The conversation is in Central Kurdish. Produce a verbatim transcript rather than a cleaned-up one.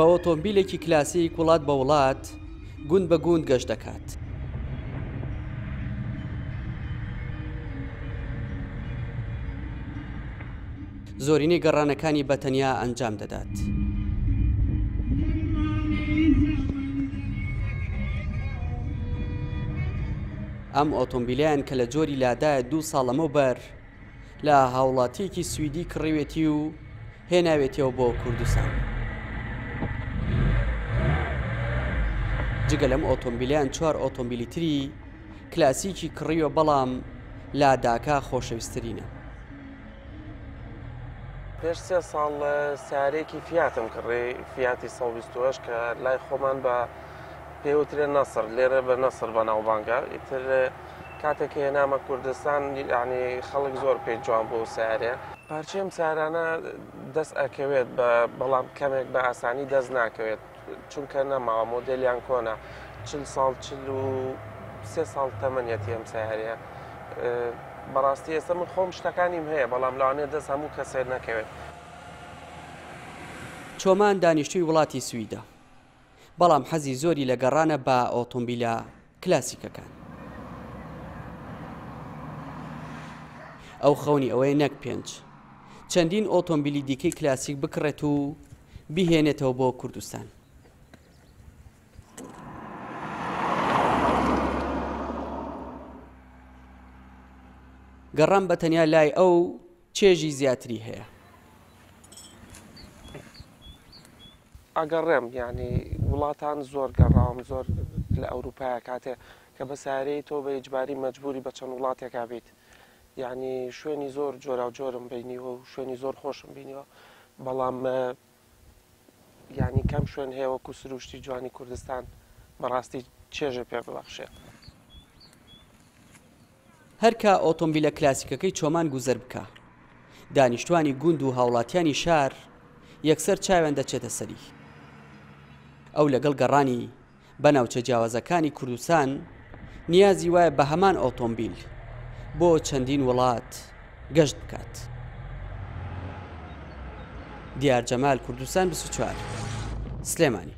بە ئۆتۆمبیلێکی کلاسیک وڵات بە وڵات گوند بە گوند گەشت دەکات. زۆرینەی گەڕانەکانی بە تەنیا ئەنجام دەدات. ئەم ئۆتۆمبیلیان کە لە جۆری لادایە دوو ساڵ لەمەوبەر لە هاوڵاتیەکی سویدی کڕیوێتی و هێناوێتیەوە بۆ کوردستان. جگە لەم ئۆتۆمبیلیان چوار ئۆتۆمبیلی تری کلاسیکی کڕیوە، بەڵام لاداکە خۆشەویستترینە. پێش سێ ساڵ سیارەیەکی فیاتم کڕی، فیاتی سەد و بیست و هەشت کە لای خۆمان بە پێوترێ نەسڕ، لێرە بە نەسڕ بەناوبانگە. ئیتر کاتێک هێنامە کوردستان یعنی خەڵک زۆر پێی جوان بوو سیارەیە. پارچەی ئەم سیارانە دەست ئەکەوێت بەڵام کەمێک بە ئاسانی دەست ناکەوێت، چونکە نەماوە، مۆدێلیان کۆنە، چل ساڵ چل و سێ ساڵ تەمەنیەتی ئەم سیارەیە. بەڕاستی ئێستا من خۆم شتەکانیم هەیە، بەڵام لەوانەیە دەست هەموو کەسێک نەکەوێت. چۆمان دانیشتووی وڵاتی سویدە، بەڵام حەزی زۆری لە گەڕانە بە ئۆتۆمبیلە کلاسیکەکان. ئەو خەونی ئەوەیە نەک پێنج، چەندین ئۆتۆمبیلی دیکەی کلاسیک بکڕێت و بیهێنێتەوە بۆ کوردستان. گەڕان بە تەنیا لای ئەو چێژی زیاتری هەیە. ئەگەڕێم یعنی وڵاتان زۆر گەڕاوم، زۆر لە ئەوروپایە کاتێ کە بە سیارەی تۆ بە ئیجباری مەجبوری بە چەند وڵاتێکا بیت، یعنی شوێنی زۆر جۆراوجۆرم بینیوە و شوێنی زۆر خۆشم بینیوە، بەڵام یعنی کەم شوێن هەیە وەکو سروشتی جوانی کوردستان بەڕاستی چێژە پێ ببەخشێ. هەرکە ئۆتۆمبیلە کلاسیکەکەی چۆمان گوزەر بکە، دانیشتوانی گوند و هاوڵاتیانی شار یەکسەر چاویان دەچێتە سەری. ئەو لەگەڵ گەڕانی بە ناوچە جیاوازەکانی کوردستان نیازی وایە بە هەمان ئۆتۆمبیل بۆ چەندین وڵات گەشت بکات. دیار جەمال، کوردستان بیست و چوار، سلێمانی.